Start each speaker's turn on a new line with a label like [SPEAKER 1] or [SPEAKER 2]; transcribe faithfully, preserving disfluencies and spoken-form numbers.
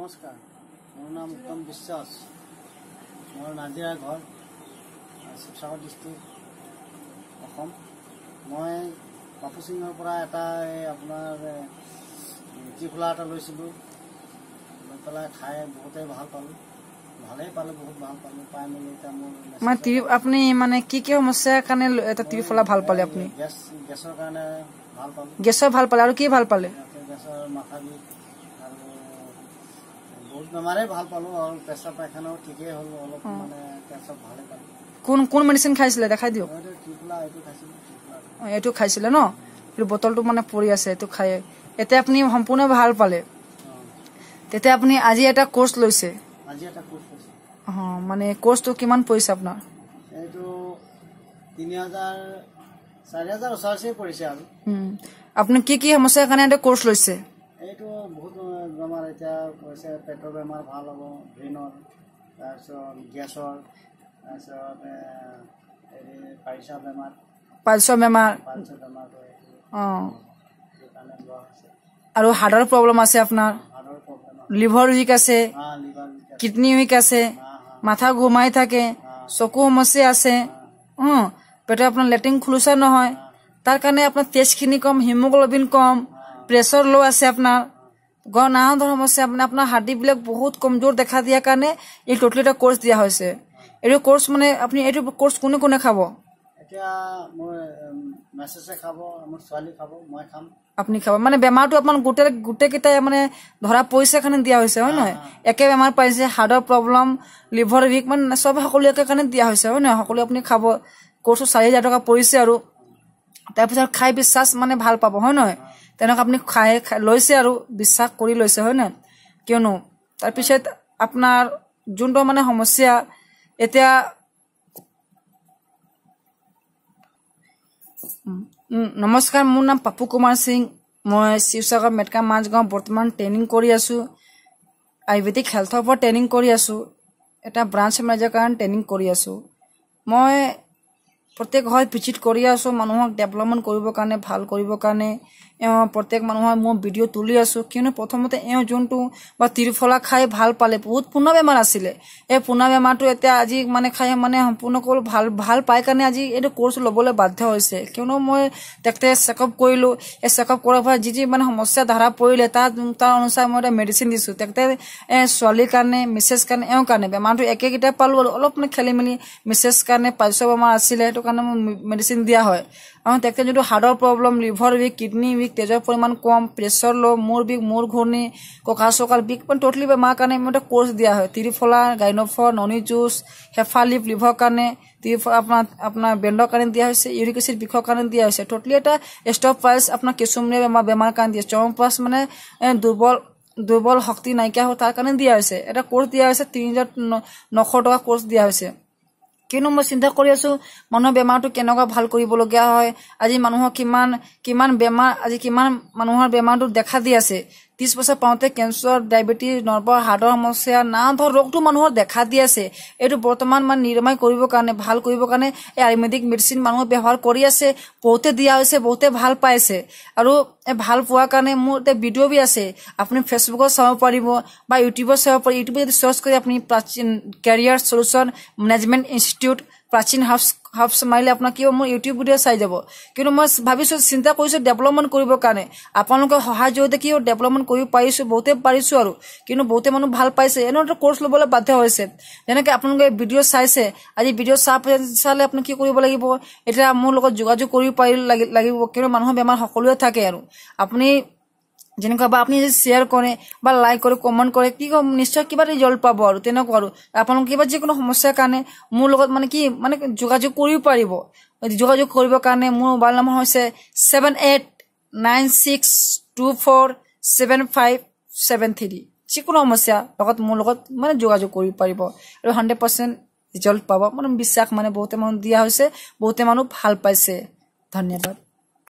[SPEAKER 1] নমস্কাৰ, মোৰ নাম উত্তম বিশ্বাস, মোৰ নাজিৰা ঘৰ, শিৱসাগৰ ডিষ্ট্ৰিক্ট, অসম। মই পাপু সিঙৰ পৰা এটা এই আপোনাৰ ত্ৰিফলা এটা লৈছিলোঁ, লৈ পেলাই খাই বহুতেই ভাল পালোঁ, ভালেই পালোঁ, বহুত ভাল পালোঁ পাই মেলি। এতিয়া মোৰ
[SPEAKER 2] মানে আপুনি মানে কি কি সমস্যাৰ কাৰণে এটা ত্ৰিফলা ভাল পালে আপুনি?
[SPEAKER 1] গেছ, গেছৰ কাৰণে ভাল পালোঁ।
[SPEAKER 2] গেছৰ ভাল পালে আৰু কি ভাল পালে?
[SPEAKER 1] গেছৰ, মাথা বিষ আৰু বহুত বেমাৰেই ভাল পালোঁ, আৰু পেচাব পায়খানাও ঠিকেই হ'ল, অলপ মানে পেচাব ভালেই পালোঁ।
[SPEAKER 2] কোন কোন মেডিচিন খাইছিলে দেখাই দিয়ক।
[SPEAKER 1] ত্ৰিফলা এইটো খাইছিলোঁ।
[SPEAKER 2] এইটো খাইছিলে ন? এইটো বটলটো মানে পৰি আছে, এইটো খাই এতিয়া আপুনি সম্পূৰ্ণ ভাল পালে। তেতিয়া আপুনি আজি এটা কোৰ্চ লৈছে?
[SPEAKER 1] আজি এটা কোৰ্চ লৈছে।
[SPEAKER 2] অ, মানে কোৰ্চটো কিমান পৰিছে আপোনাৰ?
[SPEAKER 1] এইটো তিনি হাজাৰ চাৰি হাজাৰ ওচৰা পৰিছে। আৰু
[SPEAKER 2] আপুনি কি কি সমস্যাৰ কাৰণে এটা কোৰ্চ লৈছে?
[SPEAKER 1] এইটো বহুত বেমাৰ এতিয়া কৈছে, পেটৰ বেমাৰ ভাল হ'ব, ব্ৰেইনৰ, তাৰপিছত গেছৰ, তাৰপিছত হেৰি পাইলছৰ বেমাৰ।
[SPEAKER 2] পাইলছৰ বেমাৰ,
[SPEAKER 1] পাইলছৰ বেমাৰটো
[SPEAKER 2] অঁ,
[SPEAKER 1] সেইকাৰণে লোৱা হৈছে।
[SPEAKER 2] আৰু হাৰ্টৰ প্ৰব্লেম আছে আপোনাৰ?
[SPEAKER 1] হাৰ্টৰ প্ৰব্লেম,
[SPEAKER 2] লিভাৰ উইক আছে, কিডনী উইক আছে, মাথা ঘুমাই থাকে, চকু সমস্যা আছে, পেটৰ আপোনাৰ লেট্ৰিন খোলোচা নহয়, তাৰ কাৰণে আপোনাৰ তেজখিনি কম, হিমোগ্ল'বিন কম, প্ৰেছাৰ ল' আছে আপোনাৰ, নানা ধৰণৰ সমস্যা, মানে আপোনাৰ হাৰ্ডিবিলাক বহুত কমজোৰ দেখা দিয়াৰ কাৰণে এই টোটেলি এটা কোৰ্চ দিয়া হৈছে। এইটো কোৰ্চ মানে আপুনি এইটো কোৰ্চ কোনে কোনে খাব?
[SPEAKER 1] এতিয়া মোৰ মেছেজে খাব, মোৰ ছোৱালী খাব, মই খাম।
[SPEAKER 2] আপুনি খাব মানে বেমাৰটো আপোনাৰ গোটেই গোটেইকেইটাই মানে ধৰা পৰিছে কাৰণে দিয়া হৈছে, হয় নহয়? একে বেমাৰ পাইছে, হাৰ্টৰ প্ৰব্লেম, লিভাৰ উইক, মানে চব সকলোৱে একে কাৰণে দিয়া হৈছে, হয় নহয়? সকলোৱে আপুনি খাব। কোৰ্চটো চাৰি হাজাৰ টকা পৰিছে আৰু তাৰপিছত খাই বিশ্বাস মানে ভাল পাব, হয় নহয়? তেনেকুৱা আপুনি খাই লৈছে আৰু বিশ্বাস কৰি লৈছে, হয় নহয়? কিয়নো তাৰপিছত আপোনাৰ যোনটো মানে সমস্যা এতিয়া। নমস্কাৰ, মোৰ নাম পাপু কুমাৰ সিং, মই শিৱসাগৰ মেটকা মাজগাঁও বৰ্তমান ট্ৰেইনিং কৰি আছোঁ, আয়ুৰ্বেদিক হেল্থৰ ওপৰত ট্ৰেইনিং কৰি আছোঁ, এটা ব্ৰাঞ্চ মেনেজাৰ কাৰণে ট্ৰেইনিং কৰি আছোঁ। মই প্ৰত্যেক ঘৰত ভিজিট কৰি আছোঁ মানুহক ডেভেলপমেণ্ট কৰিবৰ কাৰণে, ভাল কৰিবৰ কাৰণে। এওঁ প্ৰত্যেক মানুহৰ মই ভিডিঅ' তুলি আছোঁ। কিয়নো প্ৰথমতে এওঁ যোনটো বা ত্ৰিফলা খাই ভাল পালে, বহুত পুৰণা বেমাৰ আছিলে, এই পুৰণা বেমাৰটো এতিয়া আজি মানে খাই মানে সম্পূৰ্ণকৈ ভাল ভাল পাই কাৰণে আজি এইটো কোৰ্চ ল'বলৈ বাধ্য হৈছে। কিয়নো মই তেখেতে চেকআপ কৰিলোঁ, এই চেকআপ কৰাৰ পৰা যি যি মানে সমস্যা ধৰা পৰিলে তাৰ তাৰ অনুসাৰে মই এটা মেডিচিন দিছোঁ। তেখেতে ছোৱালীৰ কাৰণে, মিছেছ কাৰণে, এওঁৰ কাৰণে বেমাৰটো একেকেইটা পালোঁ আৰু অলপ মানে খেলি মেলি মিছেছ কাৰণে পাইলছৰ বেমাৰ আছিলে, সেইটো কাৰণে মই মেডিচিন দিয়া হয়। আৰু তেখেতে যোনটো হাৰ্টৰ problem, liver weak, kidney weak, তেজৰ পৰিমাণ কম, প্ৰেছাৰ ল', মূৰ বিষ, মূৰ ঘূৰণি, কঁকাল চকাল বিষ, মানে ট'টেলি বেমাৰ কাৰণে মই এটা কোৰ্চ দিয়া হয়। ত্ৰিফলা, গাইন'ফৰ, ননী জুচ, হেফালিপ লিভাৰ কাৰণে, ত্ৰিফলা আপোনাৰ আপোনাৰ ব্ৰেণ্ডৰ কাৰণে দিয়া হৈছে, ইউৰিক এচিড বিষৰ কাৰণে দিয়া হৈছে। ট'টেলি এটা ষ্টপ প্ৰাইচ আপোনাৰ কেঁচুমীয়া বেমাৰ বেমাৰ কাৰণে দিয়া, চৰ্মপ্ৰাছ মানে দুৰ্বল দুৰ্বল শক্তি নাইকিয়া হয় তাৰ কাৰণে দিয়া হৈছে। এটা কোৰ্চ দিয়া হৈছে তিনি হাজাৰ নশ টকা কোৰ্চ দিয়া হৈছে। কিয়নো মই চিন্তা কৰি আছোঁ মানুহৰ বেমাৰটো কেনেকুৱা ভাল কৰিবলগীয়া হয়, আজি মানুহৰ কিমান কিমান বেমাৰ, আজি কিমান মানুহৰ বেমাৰটো দেখা দি আছে। ত্ৰিছ বছৰ পাওঁতে কেঞ্চাৰ, ডায়েবেটিছ, নৰ্ভৰ, হাৰ্টৰ সমস্যা, নানা ধৰণৰ ৰোগটো মানুহৰ দেখা দি আছে। এইটো বৰ্তমান মানে নিৰাময় কৰিবৰ কাৰণে, ভাল কৰিবৰ কাৰণে এই আয়ুৰ্বেদিক মেডিচিন মানুহে ব্যৱহাৰ কৰি আছে, বহুতে দিয়া হৈছে, বহুতে ভাল পাইছে। আৰু এই ভাল পোৱাৰ কাৰণে মোৰ এতিয়া ভিডিঅ' বি আছে, আপুনি ফেচবুকত চাব পাৰিব বা ইউটিউবত চাব পাৰিব। ইউটিউবত যদি চাৰ্চ কৰি আপুনি প্ৰাচীন কেৰিয়াৰ চলিউশ্যন মেনেজমেণ্ট ইনষ্টিটিউট প্ৰাচীন হাউচ হাউচ মাৰিলে আপোনাৰ কি হ'ব, মোৰ ইউটিউব ভিডিঅ' চাই যাব। কিন্তু মই ভাবিছোঁ, চিন্তা কৰিছোঁ ডেভেলপমেণ্ট কৰিবৰ কাৰণে আপোনালোকৰ সহায় জৰিয়তে কি ডেভেলপমেণ্ট কৰিব পাৰিছোঁ, বহুতে পাৰিছোঁ আৰু কিন্তু বহুতে মানুহ ভাল পাইছে, এনে এটা কোৰ্চ ল'বলৈ বাধ্য হৈছে। যেনেকৈ আপোনালোকে ভিডিঅ' চাইছে, আজি ভিডিঅ' চা চালে আপুনি কি কৰিব লাগিব, এতিয়া মোৰ লগত যোগাযোগ কৰিব পাৰি লাগিব। কিন্তু মানুহৰ বেমাৰ সকলোৱে থাকে আৰু আপুনি যেনেকুৱা বা আপুনি যদি শ্বেয়াৰ কৰে বা লাইক কৰে, কমেণ্ট কৰে, কি কম নিশ্চয় কিবা ৰিজাল্ট পাব আৰু তেনেকুৱা। আৰু আপোনালোকে কিবা যিকোনো সমস্যাৰ কাৰণে মোৰ লগত মানে কি মানে যোগাযোগ কৰিব পাৰিব। যোগাযোগ কৰিবৰ কাৰণে মোৰ মোবাইল নম্বৰ হৈছে seven eight nine six two four seven five seven three. যিকোনো সমস্যা লগত মোৰ লগত মানে যোগাযোগ কৰিব পাৰিব আৰু হাণ্ড্ৰেড পাৰ্চেণ্ট ৰিজাল্ট পাব, মানে বিশ্বাস মানে বহুতে মানুহ দিয়া হৈছে, বহুতে মানুহ ভাল পাইছে। ধন্যবাদ।